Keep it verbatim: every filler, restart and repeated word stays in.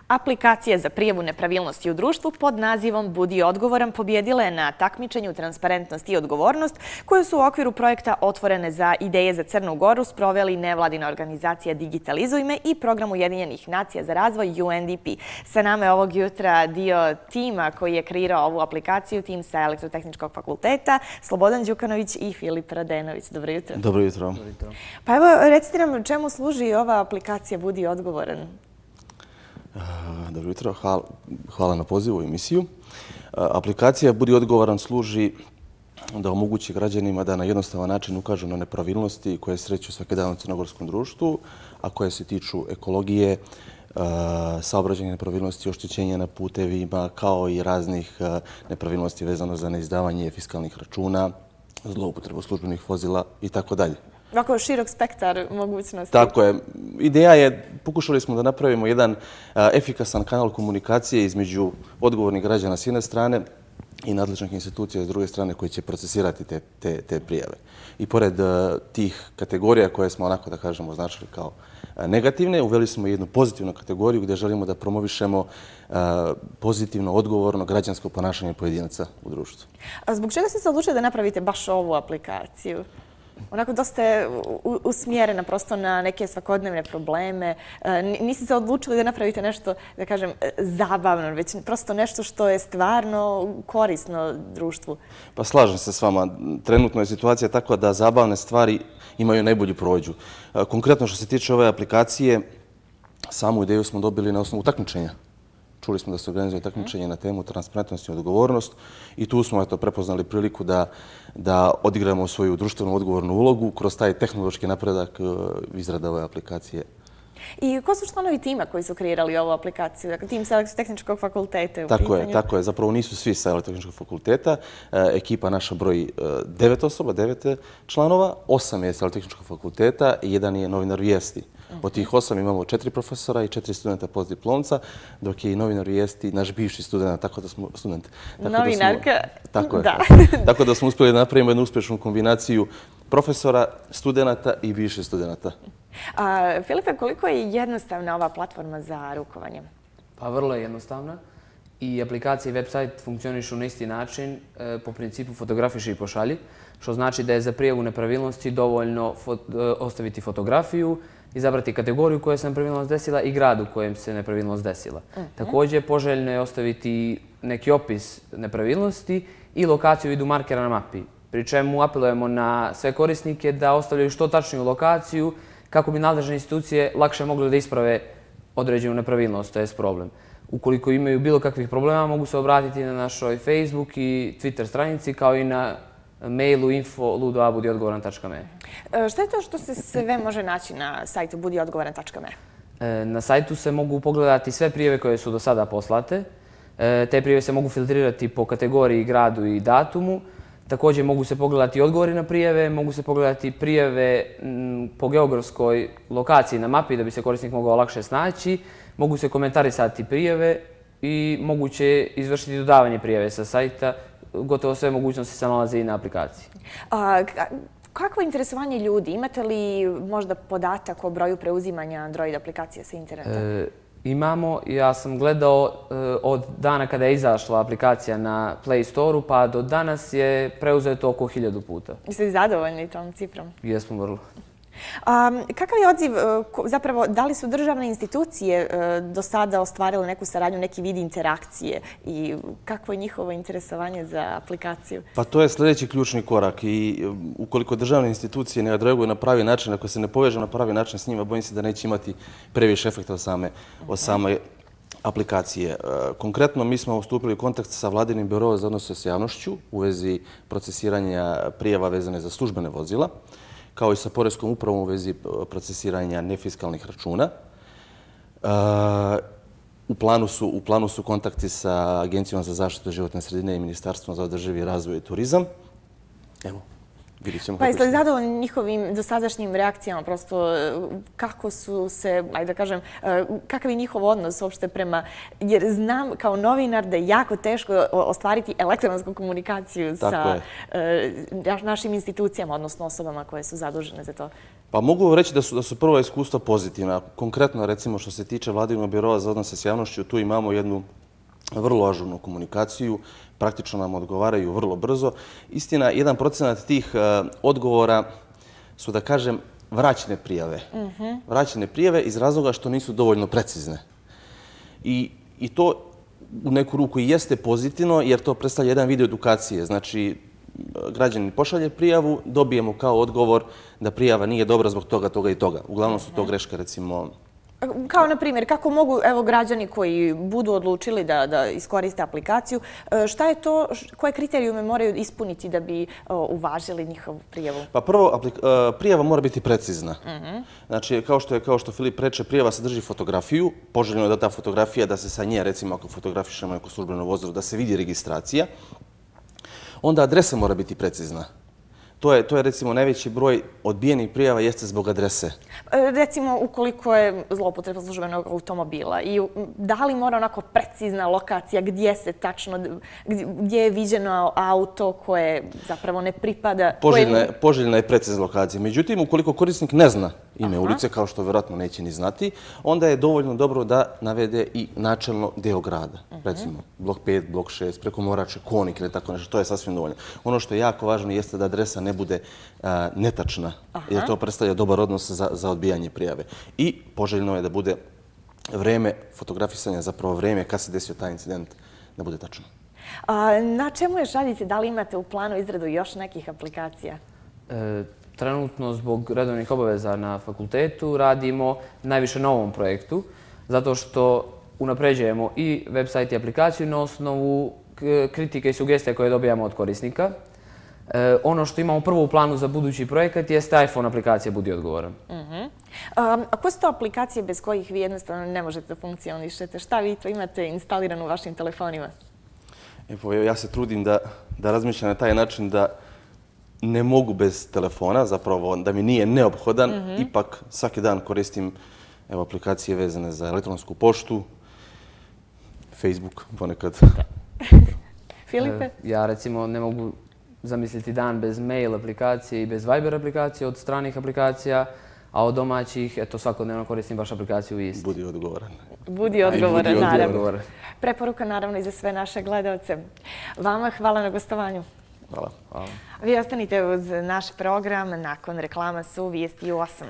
Aplikacije za prijavu nepravilnosti u društvu pod nazivom Budi odgovoran pobjedila je na takmičenju Transparentnost i odgovornost koju su u okviru projekta Otvorene za ideje za Crnu Goru sproveli nevladina organizacija Digitalizuj me i program Ujedinjenih nacija za razvoj U N D P. Sa nama je ovog jutra dio tima koji je kreirao ovu aplikaciju, tim sa Elektrotehničkog fakulteta, Slobodan Đukanović i Filip Radenović. Dobro jutro. Dobro jutro. Pa evo, recite nam čemu služi ova aplikacija Budi odgovoran? Dobro jutro, hvala na pozivu u emisiju. Aplikacija Budi odgovoran služi da omogući građanima da na jednostavan način ukažu na nepravilnosti koje sreću svaki dan u crnogorskom društvu, a koje se tiču ekologije, saobraćajnih nepravilnosti, oštećenja na putevima, kao i raznih nepravilnosti vezano za neizdavanje fiskalnih računa, zloupotrebu službenih vozila i tako dalje. Ovako širok spektar mogućnosti. Tako je. Ideja je, pokušali smo da napravimo jedan efikasan kanal komunikacije između odgovornih građana s jedne strane i nadležnih institucija s druge strane koji će procesirati te, te, te prijave. I pored tih kategorija koje smo onako da kažemo označili kao negativne, uveli smo jednu pozitivnu kategoriju gdje želimo da promovišemo pozitivno, odgovorno građansko ponašanje pojedinaca u društvu. A zbog čega ste se odlučili da napravite baš ovu aplikaciju? Onako dosta je usmjerena prosto na neke svakodnevne probleme. Niste se odlučili da napravite nešto, da kažem, zabavno, već prosto nešto što je stvarno korisno društvu. Pa slažem se s vama. Trenutno je situacija takva da zabavne stvari imaju najbolju prođu. Konkretno što se tiče ove aplikacije, samu ideju smo dobili na osnovu takmičenja. Čuli smo da se organizuje takmičenje na temu transparentnost i odgovornost i tu smo eto, prepoznali priliku da, da odigramo svoju društvenu odgovornu ulogu kroz taj tehnološki napredak izrade ove aplikacije. I ko su članovi tima koji su kreirali ovu aplikaciju? Dakle, tim sa Elektrotehničkog fakulteta je u tako pitanju? Je, tako je. Zapravo nisu svi sa Elektrotehničkog fakulteta. E, ekipa naša broji devet osoba, devet članova, osam je sa Elektrotehničkog fakulteta i jedan je novinar Vijesti. Od tih osam imamo četiri profesora i četiri studenta postdiplomca, dok je i novinar Vijesti naš bivši student, tako da smo student. Tako Novinarka, da smo, tako je, da. Tako, tako da smo uspjeli da napravimo jednu uspješnu kombinaciju profesora, studenata i bivših studenata. A, Filipe, koliko je jednostavna ova platforma za rukovanje? Pa vrlo je jednostavna. I aplikacija i website funkcionišu na isti način, e, po principu fotografiši i pošalji, što znači da je za prijavu nepravilnosti dovoljno fot, e, ostaviti fotografiju, izabrati kategoriju koja se nepravilnost desila i grad u kojem se nepravilnost desila. Uh-huh. Također, poželjno je ostaviti neki opis nepravilnosti i lokaciju u vidu markera na mapi, pri čemu apelujemo na sve korisnike da ostavljaju što tačniju lokaciju kako bi nadležne institucije lakše mogle da isprave određenu nepravilnost, to je problem. Ukoliko imaju bilo kakvih problema, mogu se obratiti na našoj Facebook i Twitter stranici, kao i na mailu info ludo a budi odgovoran tačka me. Šta je to što se sve može naći na sajtu budi odgovoran tačka me? Na sajtu se mogu pogledati sve prijave koje su do sada poslate. Te prijave se mogu filtrirati po kategoriji, gradu i datumu. Također mogu se pogledati odgovori na prijave, mogu se pogledati prijave po geografskoj lokaciji na mapi da bi se korisnik mogao lakše snaći. Mogu se komentarisati prijave i moguće izvršiti dodavanje prijave sa sajta. Gotovo sve mogućnosti se nalaze i na aplikaciji. A, kakvo je interesovanje ljudi? Imate li možda podatak o broju preuzimanja Android aplikacija sa interneta? E, imamo. Ja sam gledao e, od dana kada je izašla aplikacija na Play Store-u pa do danas je preuzeto oko hiljadu puta. Jeste li zadovoljni tom cifrom? Jesmo vrlo. A, kakav je odziv, zapravo, da li su državne institucije do sada ostvarile neku saradnju, neki vid interakcije i kakvo je njihovo interesovanje za aplikaciju? Pa to je sljedeći ključni korak i ukoliko državne institucije ne odreaguju na pravi način, ako se ne povežu na pravi način s njima, bojim se da neće imati previše efekta od same, od same aplikacije. Konkretno, mi smo stupili u kontakt sa Vladinim biroom za odnose s javnošću u vezi procesiranja prijava vezane za službene vozila, kao i sa Poreskom upravom u vezi procesiranja nefiskalnih računa. Uh, u, planu su, u planu su kontakti sa Agencijom za zaštitu životne sredine i Ministarstvom za održivi razvoj i turizam. Evo, vidjet ćemo. Pa jeste li zadovoljni njihovim dosadašnjim reakcijama? Prosto kako su se, ajde da kažem, kakav je njihov odnos uopšte prema... Jer znam kao novinar da je jako teško ostvariti elektronsku komunikaciju sa našim institucijama, odnosno osobama koje su zadužene za to. Pa mogu reći da su, da su prva iskustva pozitivna. Konkretno, recimo, što se tiče Vladinog birova za odnose s javnošću, tu imamo jednu vrlo ažurnu komunikaciju, praktično nam odgovaraju vrlo brzo. Istina, jedan procenat tih uh, odgovora su, da kažem, vraćene prijave. Mm-hmm. Vraćene prijave iz razloga što nisu dovoljno precizne. I, i to u neku ruku i jeste pozitivno, jer to predstavlja jedan vid edukacije. Znači, građanin pošalje prijavu, dobijemo kao odgovor da prijava nije dobra zbog toga, toga i toga. Uglavnom su to greške, recimo... Kao, na primjer, kako mogu evo, građani koji budu odlučili da, da iskoriste aplikaciju, šta je to, koje kriterijume moraju ispuniti da bi o, uvažili njihovu prijavu? Pa prvo, prijava mora biti precizna. Mm-hmm. Znači, kao što je, kao što Filip reče, prijava sadrži fotografiju. Poželjno je da ta fotografija, da se sa nje, recimo, ako fotografišemo neko službeno vozilo, da se vidi registracija. Onda adresa mora biti precizna. To je, to je recimo najveći broj odbijenih prijava jeste zbog adrese. Recimo, ukoliko je zloupotreba službenog automobila i da li mora onako precizna lokacija gdje se tačno, gdje je viđeno auto koje zapravo ne pripada... Poželjna je, poželjna je precizna lokacija. Međutim, ukoliko korisnik ne zna ime Aha. ulice, kao što vjerojatno neće ni znati, onda je dovoljno dobro da navede i načelno deo grada. Uh-huh. Recimo, blok pet, blok šest, preko Morače, Konik ili tako nešto. To je sasvim dovoljno. Ono što je jako važno jeste da adresa ne bude a, netačna, Aha. jer to predstavlja dobar odnos za, za odbijanje prijave. I poželjno je da bude vreme fotografisanja, zapravo vreme kad se desio taj incident, da bude tačno. A, na čemu još radite? Da li imate u planu izradu još nekih aplikacija? E, trenutno, zbog redovnih obaveza na fakultetu, radimo najviše na ovom projektu, zato što unapređujemo i website i aplikaciju na osnovu kritike i sugestija koje dobijamo od korisnika. E, ono što imamo prvo u planu za budući projekat jeste iPhone aplikacija Budi odgovoran. Uh-huh. um, a koje su to aplikacije bez kojih vi jednostavno ne možete da funkcionišete? Šta vi to imate instalirano u vašim telefonima? Evo, ja se trudim da, da razmišljam na taj način da ne mogu bez telefona, zapravo da mi nije neophodan. Mm-hmm. Ipak svaki dan koristim evo, aplikacije vezane za elektronsku poštu, Facebook ponekad. Filipe? E, ja recimo ne mogu zamisliti dan bez mail aplikacije i bez Viber aplikacije od stranih aplikacija, a od domaćih, eto, svakodnevno koristim baš aplikaciju isti. Budi odgovoran. Budi odgovoran, budi naravno. odgovoran. Preporuka naravno i za sve naše gledalce. Vama hvala na gostovanju. Hvala. Hvala. Vi ostanite uz naš program. Nakon reklama su Vijesti u osam.